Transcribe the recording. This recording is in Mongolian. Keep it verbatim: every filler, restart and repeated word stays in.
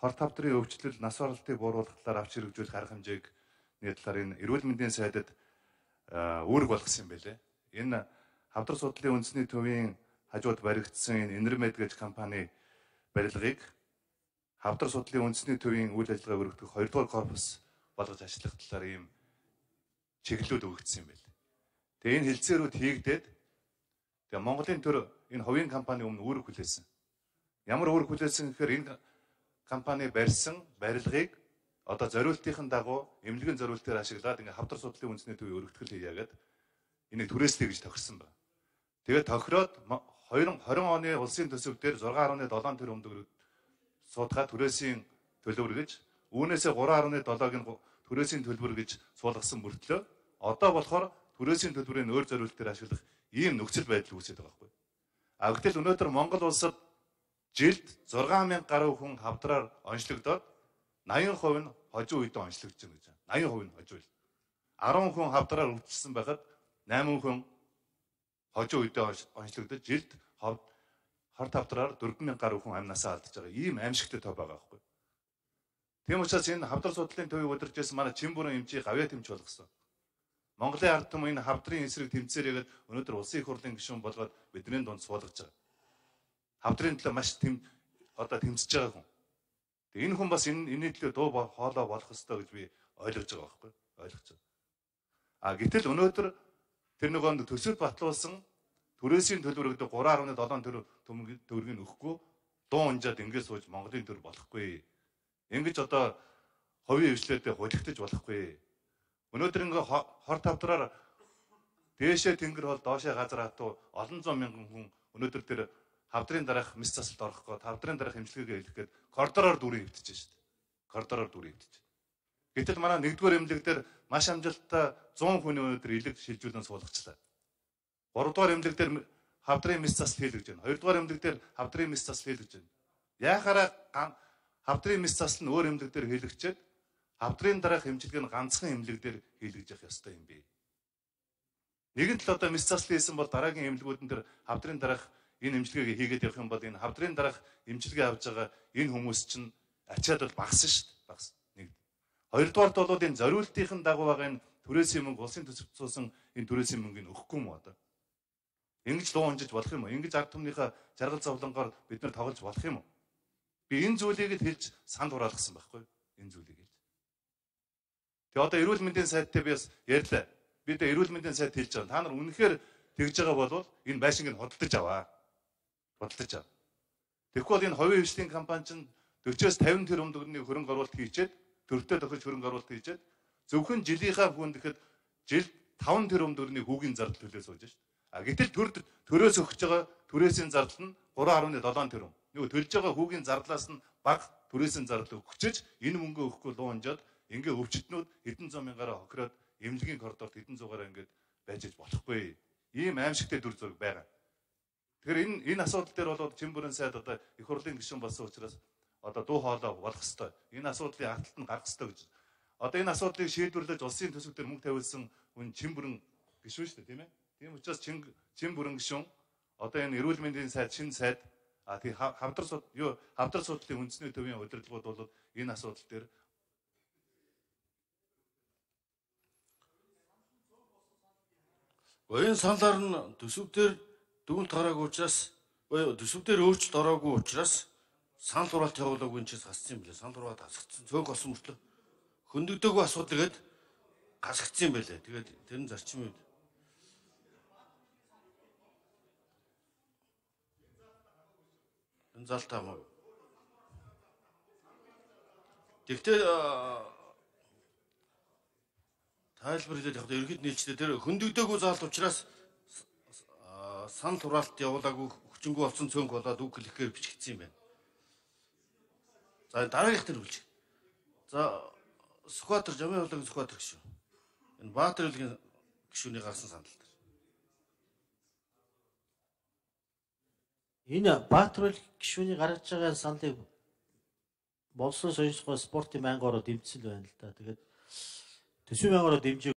хор тавдрын өвчлөл, нас оролтыг бууруулах талаар авч хэрэгжүүлэх арга хэмжээг нэг талаар энэ эрүүл мэндийн сайдад үүрэг болгосон юм байлээ. Энэ хавдар судлалын үндэсний төвийн хажууд баригдсан энэ Энермед гэж компани барилгыг хавдар судлалын үндэсний төвийн үйл ажиллагаа өргөдөх хоёрдугаар корпус болгож ажиллах талаар ийм чиглэлүүд өгөгдсөн юм байна. Тэгээ энэ хэлцээрүүд хийгдээд тэгээ Монголын төр энэ хувийн компани өмнө үүрэг хүлээсэн. Ямар үүрэг хүлээсэн гэхээр энэ компани барьсан барилгыг одоо зориултын дагуу эмнэлгийн зориултаар ашиглаад ингээ хавдар судлалын үндэсний төвийн өргөтгөл хийгээд энийг түрээслэе гэж тохирсон байна. Тэгээд тохироод двадцать двадцать оны улсын төсөв дээр six point seven тэрбум төгрөг суудгаа түрээсийн төлбөр гэж үүнээсээ three point seven-ыг нь түрээсийн төлбөр гэж суулгасан мөртлөө одоо болохоор түрээсийн төлбөрийн өөр зориултаар ашиглах ийм нөхцөл байдал үүсэж байгаа байхгүй. А гэтэл өнөөдөр Монгол улсад жилд six мянган гаруй хүн хавдраар онцлогдоод eighty percent нь хожим үедээ онцлогдож байна гэж. eighty percent нь хожим үйл. ten хүн хавдраар өвчлсөн байхад eight хүн хожим үедээ онцлогдож жилд хор тавдраар four мянган гаруй хүн амнасаа алдаж байгаа. Ийм аимшигтай тоо байгаа байхгүй. Тийм учраас энэ хавдар судлалын төвийг удирдахсан манай чин бүрэн эмчийг гавьяа тэмч болгосон. Монголын ард түмэн энэ хавдрын эсрэг тэмцээрээгээд өнөөдөр улсын их хурлын гишүүн болгоод бидний дунд суулгаж байгаа. Хавдрын төлөө маш тэм одоо тэмцэж байгаа хүн. Тэгээ энэ хүн бас энэ энэний төлөө дуу хоолой болох ёстой гэж би ойлгож байгаа байхгүй ойлгож байгаа. А гэтэл өнөөдөр тэр нөгөөнд төсөв батлуулсан түрээсийн төлбөр гэдэг three point seven тэрбум төгрөгийг өгөхгүй дуу унжаад ингэж сууж Монголын төр болохгүй. Ингэж одоо хувийн хвшлээдээ хулигдаж болохгүй. Өнөөдөр ингээ хор тавдраар дээшээ тэнгэр бол доошоо газар хатуу олон зуун мянган хүн өнөөдөр тэр хавдрын дараах мэс засалд орох гоо хавдрын дараах эмчилгээгээ хэлэх гээд коридороор дүрийн хөвтөж шүү дээ. Коридороор дүрийн хөвтөж. Гэтэл манай нэгдүгээр эмнэлэг дээр маш амжилттай one hundred хүний өнөөдөр илэг шилжүүлэн суулгачлаа. гуравдугаар эмнэлэг дээр хавдрын мэс засал хийлгэж байна. хоёрдугаар эмнэлэг дээр хавдрын мэс засал хийлгэж байна. Яахаараа хавдрын мэс засал нь өөр эмнэлэг дээр хийлгчээд хавдрын дараах эмчилгээ нь ганцхан эмнэлэг дээр хийлгэж явах ёстой юм бэ. Нэгэн тал одоо мэс засал хийсэн бол дараагийн эмнэлгүүдэн дээр хавдрын дараах энэ эмчилгээг хийгээд явах юм бол энэ хавдрын дараах эмчилгээ авж байгаа энэ хүмүүс чинь ачаад бол багсан шүү дээ. Багс. Нэг. Хоёрдугаарт бол энэ зориултын дагуу байгаа энэ түрээсийн мөнгө улсын төсөвт суусан энэ түрээсийн мөнгөний өгөхгүй юм одоо. Ингэж дуу унжиж болох юм уу? Ингэж ард түмнийхээ жаргал зовлонгоор бид нар тоглож болох юм уу? Би энэ зүйлийг л хэлж санд хураалгасан байхгүй юу? Энэ зүйлийг хэлж. Тэгээ одоо эрүүл мэндийн сайдтай би бас ярьлаа. Би одоо эрүүл мэндийн сайд хэлж байгаа. Та нар үнэхээр тэгж байгаа бол энэ байшинг нь хөдөлж аваа. Хөдөлж ав. Тэгэхгүй бол энэ хувийн хвшлийн компани чинь forty-с fifty тэрбум төгрөгийн хөрөнгө оруулалт хийчээд төртөө тохирч хөрөнгө оруулалт хийчээд зөвхөн жилийнхаа хүндэхэд жилд five тэрбум төгрөгийн хүүгийн зардал төлөө сууж шít. А гэтэл төр төрөөс өгч байгаа түрээсийн зардал нь three point seven тэрбум. Нөгөө төлж байгаа хүүгийн зардлаас нь бага түрээсийн зардал өгчөж энэ мөнгөө өгөхгүй луу унжаад ингээ өвчтнүүд хэдэн зуун мянгаараа хохироод эмнэлгийн коридорт хэдэн зугаараа ингээд байж иж болохгүй. Ийм аимшигтай дүр зураг байгаа. Тэгэхээр энэ энэ асуудал дээр бол чин бүрэн сайд одоо их хурлын гишүүн болсон учраас одоо дуу хоолой болох ёстой. Энэ асуудлыг арталт нь гаргах ёстой гэж. Одоо энэ асуудлыг шийдвэрлэж улсын төсөв дээр мөнгө тавиулсан хүн чин бүрэн гишүүн шүү дээ, тийм ээ. Тийм учраас чин чин бүрэн гишүүн одоо энэ эрүүл мэндийн сайд шинэ сайд а тий хавдар суд юу хавдар судлалын үндэсний төвийн удирдлагууд бол энэ асуудал дээр Гоён саналаар нь төсөв дээр дүгнэлт гараагүй учраас төсөв дээр өөрчлөлт ороогүй учраас санал хураалт явуулаагүй энэ ч хасцсан юм билээ. Санал хураалт хасагдсан цөөнх болсон мөртлөө хөндөгдөөгүй асуудал гээд хасагдсан юм билээ. Тэгээд тэр нь зарчим үед энэ залтаа мөн. Тэгтээ тайлбар хэлээд яг ерхэд нийлжтэй тэр хөндөгдөөгүй заалт учраас санал хураалт явуулаагүй хүчингү болсон цөөнх болоод үг хэлэхээр бичигдсэн юм байна. За дараагийнх төр үлж. За Сүхбаатар Жамын хурлын Сүхбаатар гишүүн. Энэ Баатар үлгийн гишүүний гарсан санал дээр. Энэ Баатар ул гишүүний гаргаж байгаа саналыг Болсон соёлын спортын байнгын ороо дэмжсэн байна л да. Тэгээд төсвийн байнгын ороо дэмжээ